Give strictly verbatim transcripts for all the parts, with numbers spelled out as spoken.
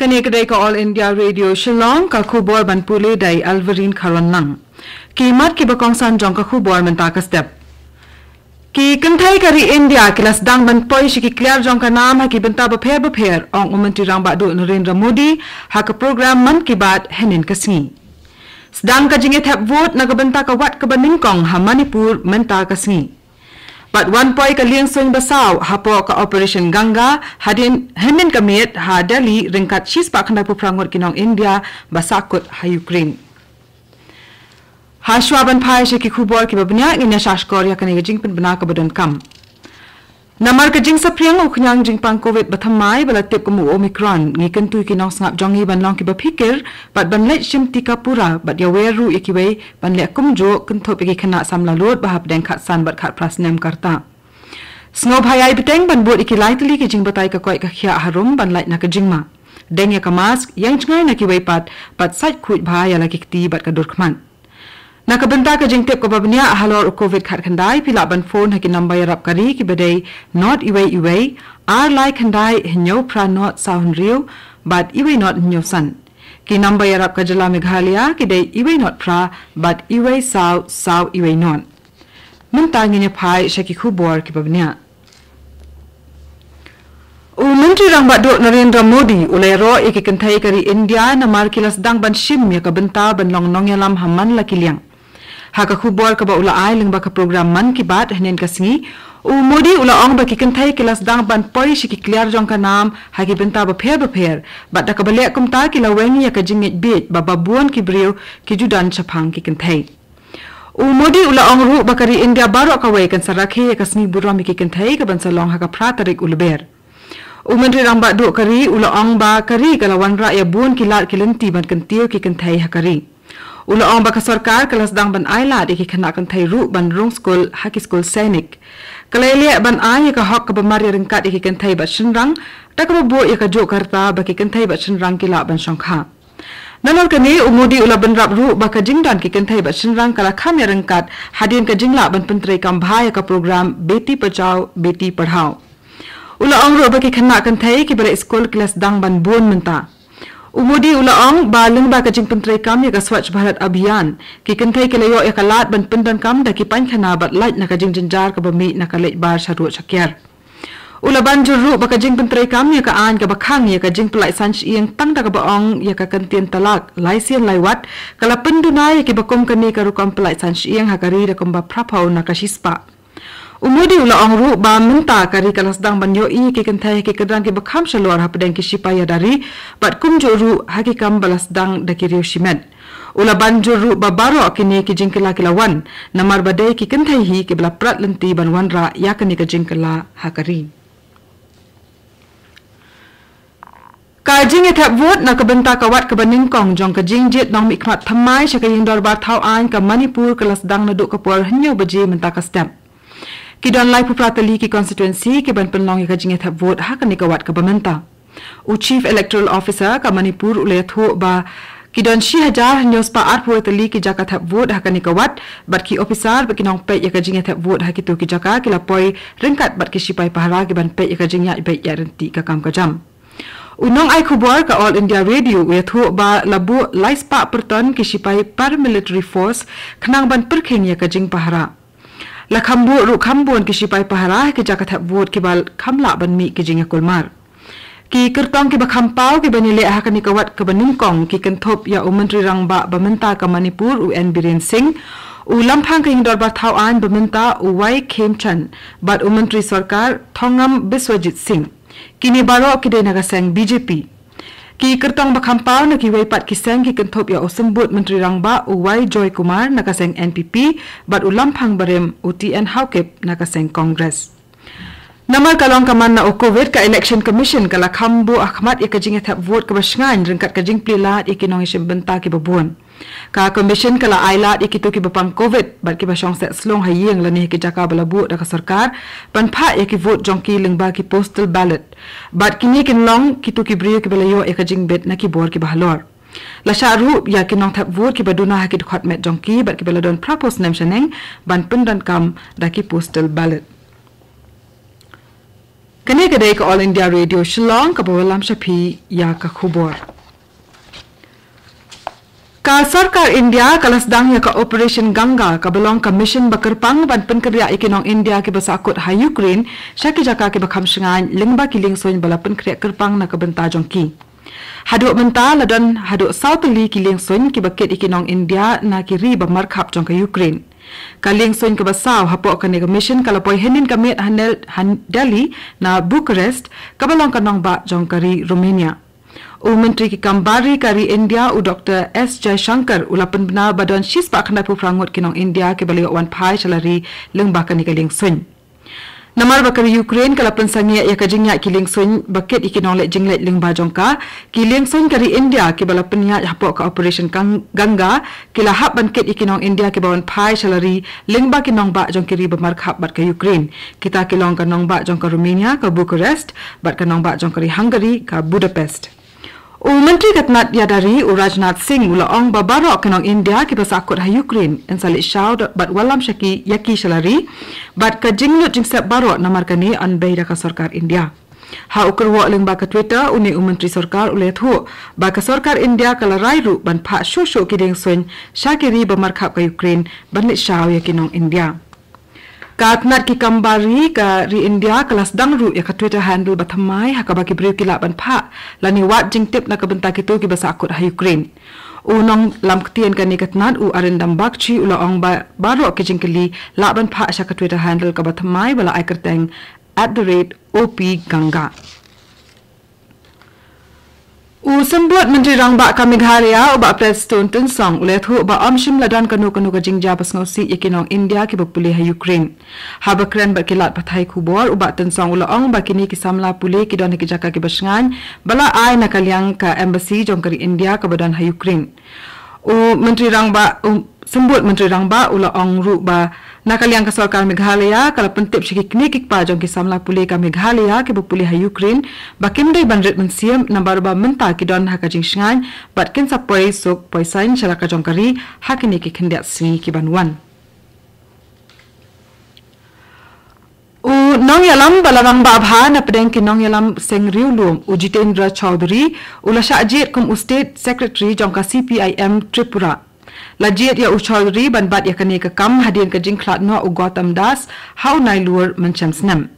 Kane ka dei ka All India Radio Shillong, ka khubor ban pule da i Alverine Kharwanlang. Ki mat kiba kongsan jong ka khubor mynta ka step. Ki kynthei ka ri India ki la sdang ban poi sha ki kliar jong ka nam ha ki bynta bapher bapher, ong u Myntri Rangbah Duh Narendra Modi ha ka program Mann Ki Baat hynnin ka sngi. Sdang ka jingïathep vote na ka bynta ka wat kaba nyngkong ha Manipur mynta ka sngi. Bad wan poi ka lieng suiñ ba saw hapoh ka Operation Ganga hadien hynnin ka miet ha Delhi ryngkat shispah khyndai phew phra ngut ki nong India ba sahkut ha Ukraine. Ha shuwa ban phai sha ki khubor kiba bniah, ngin ïa shahshkor ïa kane ka jingpynbna kaba donkam. Namar ka jingsaphriang u khñiang jingpang Covid ba thymmai ba la tip kum u Omicron, ngi kyntu ïa ki nongsngap jong ngi ban long kiba phikir bad ban leit shim tika pura bad ïawer ruh ïa kiwei ban leh kumjuh, kynthup ïa ki khynnah samla lut ba hapdeng khatsan bad khatphra snem ka rta. Sngewbha ïai bteng ban bud ïa ki lai tylli ki jingbatai ka koit ka khiah harum ban lait na ka jingma. Deng ïa ka mask, ïeng jngai na kiwei pat, bad sait khuid bha ïa la ki kti bad ka dur khmat. Na ka bynta ka jingtip kaba bniah halor u Covid khatkhyndai, phi lah ban phone ha ki number ïarap ka ri kiba dei nought iwei iwei, ar lai khyndai, hynñiew phra nought saw hynriew, bad iwei nought hynñiew san. Ki number ïarap ka jylla Meghalaya ki dei iwei nought phra bad iwei saw saw iwei nought. Mynta ngin ïa phai sha ki khubor kiba bniah. U Myntri Rangbah Duh Narendra Modi u la ïaroh ïa ki kynthei ka ri India namar ki la sdang ban shim ïa ka bynta ban long nongïalam ha man la ki liang. Ha ka khubor kaba u la ai lyngba ka program Mann Ki Baat hynnin ka sngi, u Modi u la ong ba ki kynthei ki la sdang ban poi sha ki kliar jong ka nam ha ki bynta bapher bapher, bad da kaba leh kumta ki la weng ïa ka jingngeit bieit ba babun ki briew ki ju don shaphang ki kynthei. U Modi u la ong ruh ba ka ri India baroh kawei kan sa rakhe ïa ka sngi burom ïa ki kynthei kaban sa long ha ka phra tarik u Lber. U Myntri Rangbah Duh ka ri u la ong ba ka ri ka la wanrah ïa bun ki lad ki lynti ban kyntiew ki kynthei ha ka ri. U la ong ba ka sorkar ka la sdang ban ai lad ïa ki khynnah kynthei ruh ban rung skul ha ki skul sainik. Ka la ïaleh ban ai ïa ka hok kaba mar ïaryngkat ïa ki kynthei bad shynrang, da kaba buh ïa ka juk ka rta ba ki kynthei bad shynrang ki lah ban shongkha. Nalor kane, u Modi u la bynrap ruh ba ka jingdon ki kynthei bad shynrang ka la kham ïaryngkat hadien ka jinglah ban pyntreikam bha ïa ka program Beti Bachao Beti Padhao. U la ong ruh ba ki khynnah kynthei kiba leit skul ki la sdang ban bun mynta. U Modi u la ong ba lyngba ka jingpyntreikam ïa ka Swachh Bharat Abhiyan, ki kynthei ki la ïoh ïa ka lad ban pyndonkam da ki painkhana bad lait na ka jingjynjar kaba mih na ka leit bar shaduh shakiar. U la ban jur ruh ba ka jingpyntreikam ïa ka aiñ kaba khang ïa ka jingpyllait san shyieng tang da kaba ong ïa ka kyntien talak lai sien lai wat, ka la pynduna ïa kiba kum kane ka rukom pyllait san shyieng ha ka ri da kumba phra phew na ka shispah. U Modi u la ong ruh ba mynta ka ri ka la sdang ban ïohi ïa ki kynthei ha ki kyrdan kiba kham shalor hapdeng ki shipai ïada ri, bad kumjuh ruh ha ki kam ba la sdang da ki riew shimet. U la ban jur ruh ba baroh kine ki jingkylla ki la wan namar ba dei ki kynthei hi kiba la prat lynti ban wanrah ïa kane ka jingkylla ha ka ri. Ka jingïathep vote na ka bynta ka wat kaba nyngkong jong ka jingjied nongmihkhmat thymmai sha ka ïing dorbar thaw aiñ ka Manipur ka la sdang naduh ka por hynñiew baje mynta ka step. Ki don laiphew phra tylli ki constituency kiban pynlong ïa ka jingïathep vote ha kane ka wat kaba mynta. U Chief Electoral Officer ka Manipur u la ïathuh ba ki don shi hajar hynñiew spah arphew tylli ki jaka thep vote ha kane ka wat, bad ki ophisar bad ki nongpeit ïa ka jingïathep vote ha kito ki jaka ki la poi ryngkat bad ki shipai pahara kiban peit ïa ka jingïaid beit ïaid ryntih ka kam ka jam. U nongai khubor ka All India Radio u ïathuh ba la buh lai spah pyrton ki shipai Paramilitary Force khnang ban pyrkhing ïa ka jingpahara. La kham buh ruh kham bun ki shipai pahara ha ki jaka thep vote kiba kham lah ban mih ki jingïakulmar. Ki kyrtong kiba kham paw kiban ïaleh ha kane ka wat kaba nyngkong ki kynthup ïa u Myntri Rangbah ba mynta ka Manipur u N Biren Singh, u Lamphang ka ïing dorbar thaw aiñ ba mynta u Y Khemchand, bad u Myntri Sorkar Thongam Biswajit Singh. Kine baroh ki dei na ka seng B J P. Ki kyrtong ba kham paw na kiwei pat ki seng ki kynthup ïa u Symbud Myntri Rangbah u Y Joykumar na ka seng N P P, bad u Lamphang barim u T N Haokip na ka seng Congress. Namar ka long ka man na u Covid, ka Election Commission ka la kham buh ha khmat ïa ka jingïathep vote kaba shngaiñ ryngkat ka jingplie lad ïa ki nongïashim bynta kiba bun. Ka Commission ka la ai lad ïa kito kiba pang Covid bad kiba shong seh slung ha ïing lane ha ki jaka ba la buh da ka sorkar ban phah ïa ki vote jong ki lyngba ki postal ballot. Bad kine kin long kito ki briew kiba la ïoh ïa ka jingbit na ki bor kiba halor. La shah ruh ïa ki nongthep vote kiba duna ha ki dkhot met jong ki bad kiba la don phra phew snem shaneng ban pyndonkam da ki postal ballot. Kane ka dei ka All India Radio Shillong, kaba wallam sha phi ïa ka khubor. Ka sorkar India ka la sdang ïa ka Operation Ganga, kaba long ka mission ba kyrpang ban pynkynriah ïa ki nong India kiba sahkut ha Ukraine sha ki jaka kiba kham shngaiñ lyngba ki liengsuiñ ba la pynkhreh kyrpang na ka bynta jong ki. Haduh mynta la don haduh saw tylli ki liengsuiñ kiba kit ïa ki nong India na ki ri ba markhap jong ka Ukraine. Ka liengsuiñ kaba saw hapoh kane ka mission ka la poi hynnin ka miet ha Nel-, ha Delhi na Bucharest, kaba long ka nongbah jong ka ri Romania. U Myntri ki kam bar ri ka ri India, u Doktor S Jaishankar, u la pynbna ba don shispah khyndai phew phra ngut ki nong India kiba la ïoh wan phai sha la ri lyngba kane ka liengsuiñ. Namar ba ka ri Ukraine ka la pynsangeh ïa ka jingïaid ki liengsuiñ ba kit ïa ki nongleit jingleit lyngba jong ka, ki liengsuiñ ka ri India kiba la pynïaid hapoh ka Operation Gang-, Ganga, ki la hap ban kit ïa ki nong India kiba wan phai sha la ri lyngba ki nongbah jong ki ri ba markhap bad ka Ukraine. Kita ki long ka nongbah jong ka Romania, ka Bucharest, bad ka nongbah jong ka ri Hungary, ka Budapest. U Myntri ka tnat ïada ri, u Rajnath Singh, u la ong ba baroh ki nong India kiba sahkut ha Ukraine yn sa leit shaw da-, bad wallam sha ki ïa ki sha la ri, bad ka jinglut jingsep baroh namar kane yn bei da ka sorkar India. Ha u kyrwoh lyngba ka Twitter, une u Myntri Sorkar u la ïathuh ba ka sorkar India ka la rai ruh ban phah shuh shuh ki liengsuiñ sha ki ri ba markhap ka Ukraine ban leit shaw ïa ki nong India. Ka tnat ki kam bar ri ka ri India ka la sdang ruh ïa ka Twitter handle ba thymmai ha kaba ki briew ki lah ban phah lane wad jingtip na ka bynta kito kiba sahkut ha Ukraine. U nonglam ktien kane ka tnat, u Arindam Bagchi, u la ong ba baroh ki jingkylli lah ban phah sha ka Twitter handle kaba thymmai ba la ai kyrteng at the rate O P Ganga. U Symbud Myntri Rangbah ka Meghalaya, u Bah Prestone Tynsong, u la ïathuh ba ym shym la don kano kano ka jingjia ba sngewsih ïa ki nong India kiba pule ha Ukraine. Haba kren bad ki lad pathai khubor, u Bah Tynsong u la ong ba kine ki samla pule ki don ha ki jaka kiba shngaiñ ba la ai na ka liang ka embassy jong ka ri India kaba don ha Ukraine. U Myntri Rangbah, u Symbud Myntri Rangbah u la ong ruh ba na ka liang ka sorkar Meghalaya ka la pyntip sha ki kmie ki kpa jong ki samla pule ka Meghalaya kiba pule ha Ukraine ba kim dei ban rit mynsiem namar ba mynta ki don ha ka jingshngaiñ bad kin sa poi suk poi saiñ sha la ka jong ka ri ha kine ki khyndiat sngi ki ban wan. U nongïalam ba la rangbah bha na pdeng ki nongïalam seng riewlum, u Jitendra Chaudhary, u la shah jied kum u State Secretary jong ka C P I M Tripura. La jied ïa u Chaudhary ban bat ïa kane ka kam hadien ka jingkhlad noh u Gautam Das ha u Nailur mynshem snem.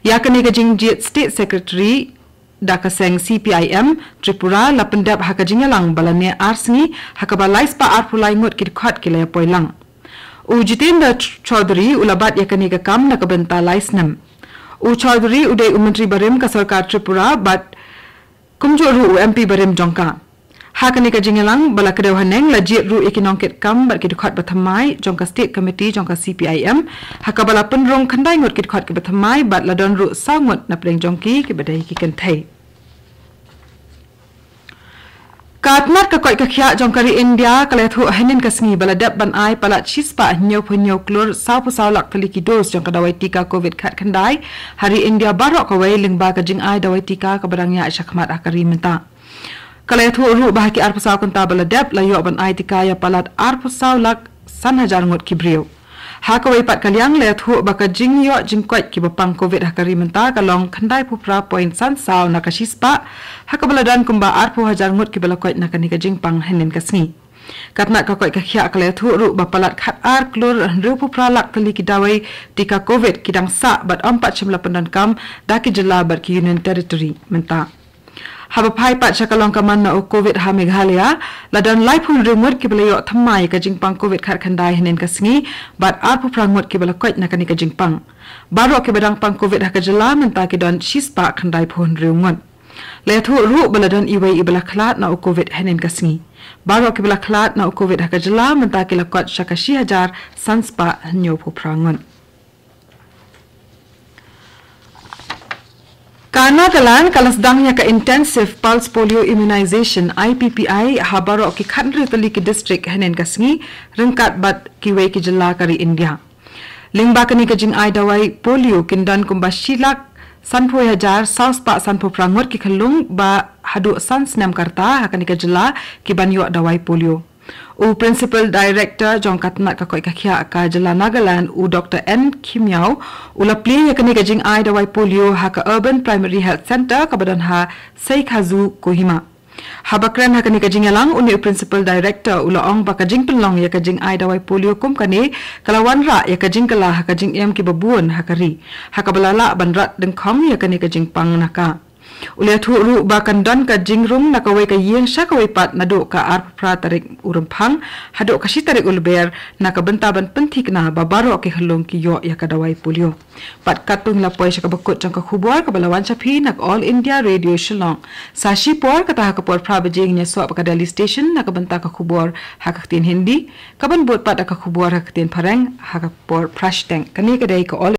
Ïa kane ka jingjied State Secretary da ka seng C P I M Tripura la pyndep ha ka jingïalang ba la neh ar sngi, ha kaba lai spah arphew lai ngut ki dkhot ki la ïa poi lang. U Jitendra Ch-, Chaudhary u la bat ïa kane ka kam na ka bynta lai snem. U Chaudhary u dei u Myntri barim ka sorkar Tripura bad kumjuh ruh u M P barim jong ka. Ha kane ka jingïalang ba la kdew haneng la jied ruh ïa ki nongkitkam bad ki dkhot ba thymmai jong ka State Committee jong ka C P I M, ha kaba la pynrung khyndai ngut ki dkhot kiba thymmai bad la don ruh saw ngut na pdeng jong ki kiba dei ki kynthei. Ka tnat ka koit ka khiah jong ka ri India ka la ïathuh hynnin ka sngi ba la dep ban ai palat shispah hynñiewphew hynñiew klur sawphew saw lak tylli ki dos jong ka dawai tika Covid khatkhyndai ha ri India baroh kawei lyngba ka jingai dawai tika kaba dang ïaid shakhmat ha ka ri mynta. Ka la ïathuh ruh ba ha ki arphew saw kynta ba la dep la ïoh ban ai tika ïa palat arphew saw lak san hajar ngut ki briew. Ha kawei pat ka liang la ïathuh ba ka jingïoh jingkoit kiba pang Covid ha ka ri mynta ka long khyndaiphew phra point san saw na ka shispah, ha kaba la don kumba arphew hajar ngut kiba la koit na kane ka jingpang hynnin ka sngi. Ka tnat ka koit ka khiah ka la ïathuh ruh ba palat khatar klur hynriewphew phra lak tylli ki dawai tika Covid ki dang sah bad ym pat shym la pyndonkam da ki jylla bad ki Union Territory mynta. Haba phai pat sha ka long ka man na u Covid ha Meghalaya, la don laiphew hynriew ngut kiba la ïoh thymmai ka jingpang Covid khatkhyndai hynnin ka sngi, bad arphew phra ngut kiba la koit na kane ka jingpang. Baroh kiba dang pang Covid ha ka jylla mynta ki don shispah khyndaiphew hynriew ngut. La ïathuh ruh ba la don iwei iba la khlad na u Covid hynnin ka sngi. Baroh kiba la khlad na u Covid ha ka jylla mynta ki la kot sha ka shi hajar san spah hynñiewphew phra ngut. Ka Nagaland ka la sdang ïa ka Intensive Pulse Polio Immunization, I P P I, ha baroh ki khathynriew tylli ki district hynnin ka sngi, ryngkat bad kiwei ki jylla ka ri India. Lyngba kane ka jingai dawai polio kin don kumba shi lak sanphew hajar saw spah sanphew phra ngut ki khyllung ba haduh san snem ka rta ha kane ka jylla ki ban ïoh dawai polio. U Principal Director jong ka tnat ka koit ka khiah ka jylla Nagaland, u Doctor N Khimiaw, u la plie ïa kane ka jingai dawai polio ha ka Urban Primary Health Centre kaba don ha Seikhazu, Kohima. Haba kren ha kane ka jingïalang, une u Principal Director u la ong ba ka jingpynlong ïa ka jingai dawai polio kum kane ka la wanrah ïa ka jingkylla ha ka jingim kiba bun ha ka ri, ha kaba la lah ban rat dyngkhong ïa kane ka jingpang na ka. U la ïathuh ruh ba kan don ka jingrung na kawei ka ïing sha kawei pat naduh ka arphew phra tarik u Rymphang haduh ka shi tarik u Lber, na ka bynta ban pynthikna ba baroh ki khyllung ki ïoh ïa ka dawai polio. Bad katto ngi la poi sha kaba kut jong ka khubor kaba la wan sha phi na ka All India Radio Shillong. Sa shipor, kata ha ka por phra baje ngin ïasoh bad ka Delhi Station na ka bynta ka khubor ha ka ktien Hindi, kaban bud pat da ka khubor ha ka ktien Phareng ha ka por phra shiteng. Kane ka dei ka All